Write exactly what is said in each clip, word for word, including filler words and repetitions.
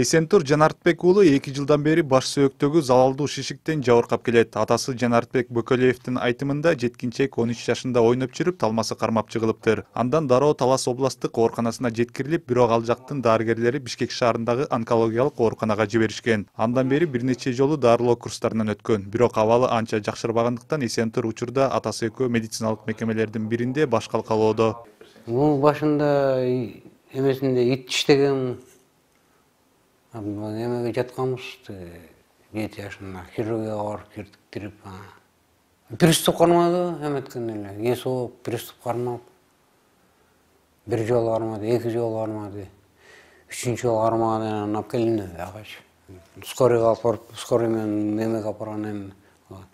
Эсентур Жанартбек уулу эки жылдан бери баш сөөктөгү залалдуу шишиктен жабыркап келет. Атасы Жанартбек Бөкөлиевдин айтымында жеткинчек он үч жашында ойноп жүрүп талмасы кармап жыгылыптыр. Андан дароо Талас областтык ооруканасына жеткирилип, бирок ал жактын дарыгерлери Бишкек шаарындагы онкологиялык ооруканага жиберишкен. Андан бери бир нече жолу дарылоо курстарынан өткөн. Бирок абалы анча жакшырбагандыктан Эсентур учурда атасы экөө медициналык мекемелердин биринде баш калкалоодо. Мунун башында эмесинде ит иштеген. Эмеге жатканбыз жети жашында хирургияга барып кирдиктирип, приступ кармады эметкен эле, эс ооп, приступ кармап, бир жолу кармады, эки жолу кармады, үчүнчү жолу кармагандан анан алып келдим агачы. Скорыйга алып барып, скорый менен эмеге алып баргандан кийин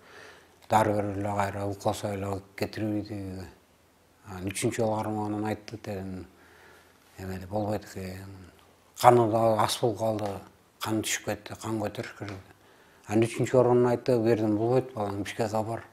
дарыгер эле кайра укалса эле кетирбейди. Үчүнчү жолу кармагандан айтты дедим, эмеде болбойт экен. Каны да ас болуп калды, кан түшүп кетти, кан көтөрүш керек. Анан үчүнчү орунун айтты, бердим, болбойт балаң Бишкекке бар.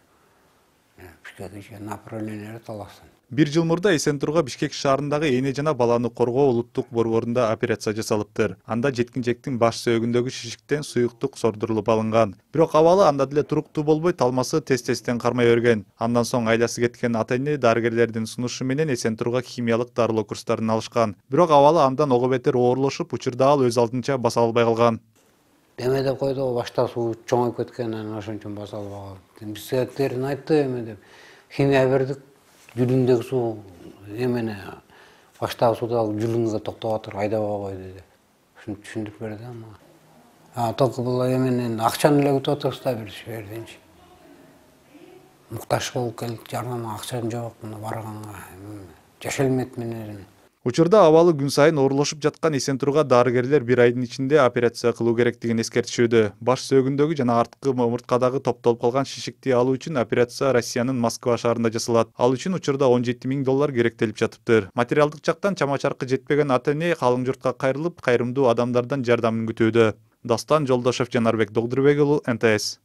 Бишкекке направление Таластан. Бир жыл мурда Эсентурга Бишкек шаарындагы эне жана баланы коргоо улуттук борборунда операция жасалыптыр. Анда жеткинчектин баш сөөгүндөгү шишиктен суюктук сордурулуп алынган. Бирок абалы анда деле туруктуу болбой, талмасы тез-тезден кармай берген. Андан соң айласы кеткен ата-эне дарыгерлердин сунушу менен Эсентурга химиялык дарылоо курстарын алышкан. Бирок абалы андан ого бетер оорлошуп, учурда ал өз алдынча баса албай калган. Эме деп койду, башта суу чоңоюп кеткен, анан ошон үчүн баса албай калды. Биздердин айтты эме деп. Химия бердик. Жүлүңдөгү суу эмени баштагы суудагы жүлүнгө токтоп атыр, айдабай кой деди. Ушуну түшүндүрүп берди ага. А только бул эменин акчаны эле күтүп атабыз да бир жерденчи. Муктаж болуп келдик, жардам акчам жок, мына барганга жашай элмейт менен. Учурда абалы күн сайын оорлошуп жаткан Эсентурга дарыгерлер бир айдын ичинде операция кылуу керектигин эскертишүүдө. Баш сөөгүндөгү жана арткы омурткадагы топтолуп калган шишикти алуу үчүн операция Россиянын Москва шаарында жасалат. Ал үчүн учурда он жети миң доллар керектелип жатыптыр. Материалдык жактан чама-чаркы жетпеген ата-эне калың журтка кайрылып, кайрымдуу адамдардан жардамын күтүүдө. Дастан Жолдошев, Жанарбек Догдурбек уулу, Н Т С.